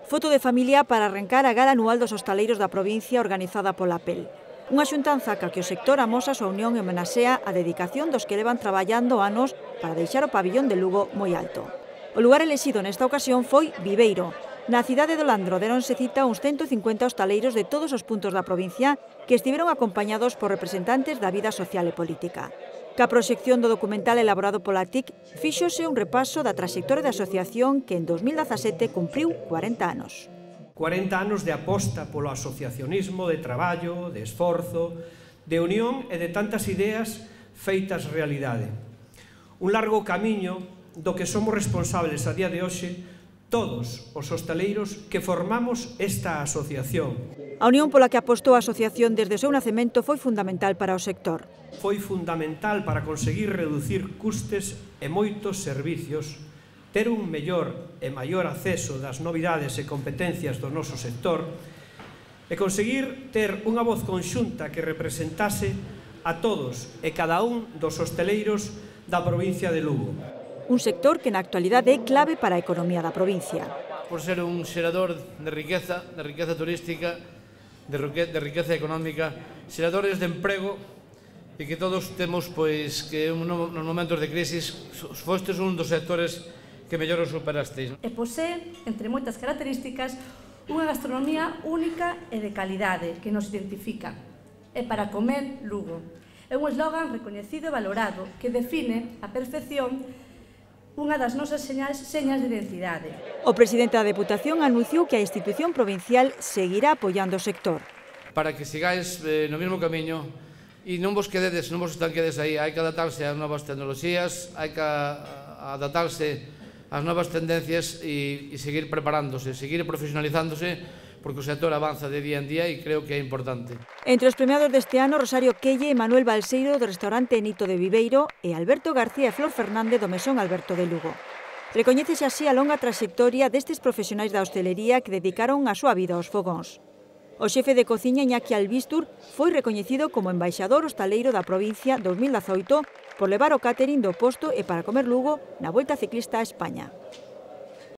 Foto de familia para arrancar a gala anual dos hostaleiros da provincia organizada pola PEL. Unha xuntanza ca que o sector amosa a súa unión e homenaxea a dedicación dos que levan traballando anos para deixar o pabillón de Lugo moi alto. O lugar elexido nesta ocasión foi Viveiro. Na cidade do Landro deronse cita uns 150 hostaleiros de todos os puntos da provincia que estiveron acompañados por representantes da vida social e política. Ca proxección do documental elaborado pola TIC fíxose un repaso da traxectoria da asociación que en 2017 cumpriu 40 anos. 40 anos de aposta polo asociacionismo, de traballo, de esforzo, de unión e de tantas ideas feitas realidade. Un largo camiño do que somos responsables a día de hoxe todos os hostaleiros que formamos esta asociación. A unión pola que apostou a asociación desde o seu nacemento foi fundamental para o sector. Foi fundamental para conseguir reducir custes e moitos servicios, ter un mellor e maior acceso das novidades e competencias do noso sector e conseguir ter unha voz conxunta que representase a todos e cada un dos hostaleiros da provincia de Lugo. Un sector que na actualidade é clave para a economía da provincia. Por ser un xerador de riqueza turística, de riqueza económica, xeradores de emprego e que todos temos que nos momentos de crisis fostes un dos sectores que mellor o superasteis. E posee, entre moitas características, unha gastronomía única e de calidade que nos identifica. E para comer, Lugo. É un eslogan recoñecido e valorado que define a perfección unha das nosas señas de identidade. O presidente da Deputación anunciou que a institución provincial seguirá apoiando o sector. Para que sigáis no mesmo camiño e non vos estanquedes aí, hai que adaptarse ás novas tecnoloxías, hai que adaptarse ás novas tendencias e seguir preparándose, seguir profesionalizándose, porque o sector avanza de día en día e creo que é importante. Entre os premiados deste ano, Rosario Quelle e Manuel Balseiro do restaurante Nito de Viveiro e Alberto García e Flor Fernández do Mesón Alberto de Lugo. Recoñécese así a longa traxectoria destes profesionais da hostelería que dedicaron a súa vida aos fogóns. O xefe de cociña Iñaki Albistur foi recoñecido como embaixador hostaleiro da provincia 2018 por levar o catering do posto e para comer Lugo na Volta Ciclista a España.